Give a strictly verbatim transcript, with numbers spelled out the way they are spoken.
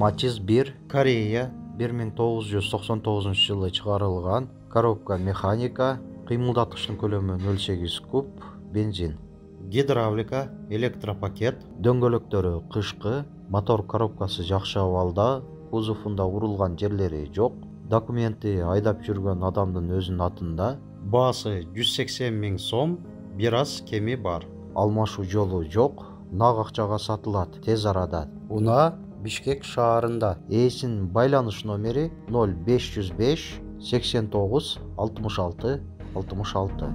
Матис бир, Корея, бир миң тогуз жүз токсон тогузунчу жылы чыгарылган. Коробка механика, кыймылдаткычтын көлөмү ноль сегиз куб, бензин. Гидравлика, электропакет, дөңгөлөктөрү кышкы, мотор коробкасы жакшы абалда, кузовунда урулган жерлери жок. Документи айдап жүргөн адамдын өзүнүн атында. Баасы жүз сексен миң сом, бир аз кеми бар. Алмашуу жолу жок, нак акчага сатылат тез арада. Унаа Бишкек шаарында. Ээсинин байланыш номери ноль беш жүз беш сексен тогуз алтымыш алты алтымыш алты.